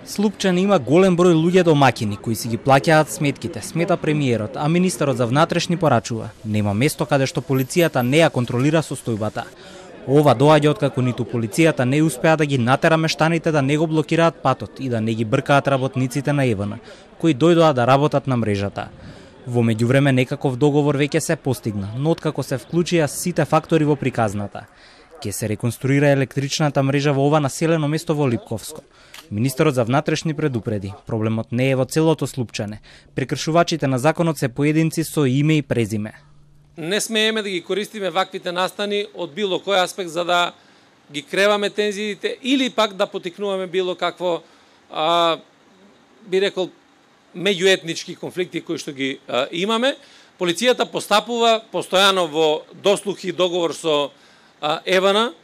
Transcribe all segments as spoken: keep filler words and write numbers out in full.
Слупчане има голем број луѓе домаќини кои си ги плаќаат сметките, смета премиерот, а министерот за внатрешни порачува. Нема место каде што полицијата не ја контролира состојбата. Ова доаѓа откако ниту полицијата не успеа да ги натера мештаните да не го блокираат патот и да не ги бркаат работниците на ЕВН, кои дојдоа да работат на мрежата. Во меѓувреме некаков договор веќе се постигна, но откако се вклучија сите фактори во приказната. Ке се реконструира електричната мрежа во ова населено место во Липковско. Министерот за внатрешни предупреди, проблемот не е во целото Слупчане. Прекршувачите на законот се поединци со име и презиме. Не смееме да ги користиме ваквите настани од било кој аспект за да ги креваме тензиите или пак да потикнуваме било какво, а, би рекол, меѓуетнички конфликти кои што ги а, имаме. Полицијата постапува постојано во дослух и договор со а, ЕВН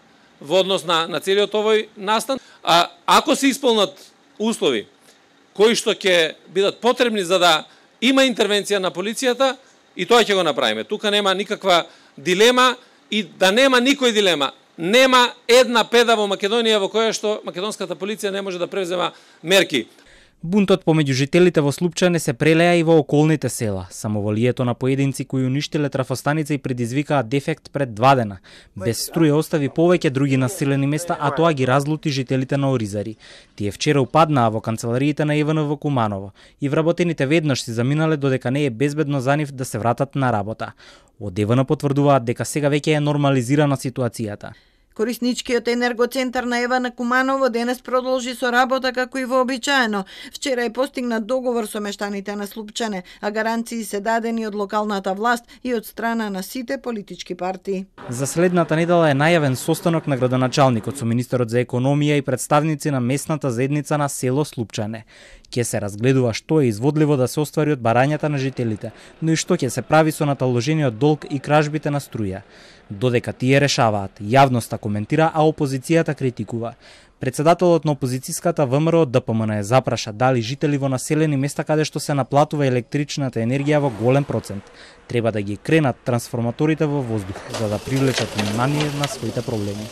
во однос на, на целиот овој настан. А ако се исполнат услови кои што ќе бидат потребни за да има интервенција на полицијата, и тоа ќе го направиме. Тука нема никаква дилема и да нема никој дилема. Нема една педа во Македонија во која што македонската полиција не може да превзема мерки. Бунтот помеѓу жителите во Слупчане се прелеа и во околните села. Самоволието на поединци кои уништиле трафостаница и предизвикаа дефект пред два дена. Без струја остави повеќе други населени места, а тоа ги разлути жителите на Оризари. Тие вчера упаднаа во канцелариите на ЕВН во Куманово и вработените веднаш си заминале додека не е безбедно за нив да се вратат на работа. Од ЕВН потврдуваат дека сега веќе е нормализирана ситуацијата. Корисничкиот енергоцентар на ЕВН Куманово денес продолжи со работа како и вообичаено. Вчера е постигнат договор со мештаните на Слупчане, а гаранции се дадени од локалната власт и од страна на сите политички партии. За следната недела е најавен состанок на градоначалникот со министерот за економија и представници на местната заедница на село Слупчане. Ке се разгледува што е изводливо да се оствари од барањата на жителите, но и што ќе се прави со наталожениот долг и кражбите на струја. Додека тие решаваат, јавноста коментира, а опозицијата критикува. Председателот на опозицијската ВМРО ДПМН е запраша дали жители во населени места каде што се наплатува електричната енергија во голем процент треба да ги кренат трансформаторите во воздух за да привлечат внимание на своите проблеми.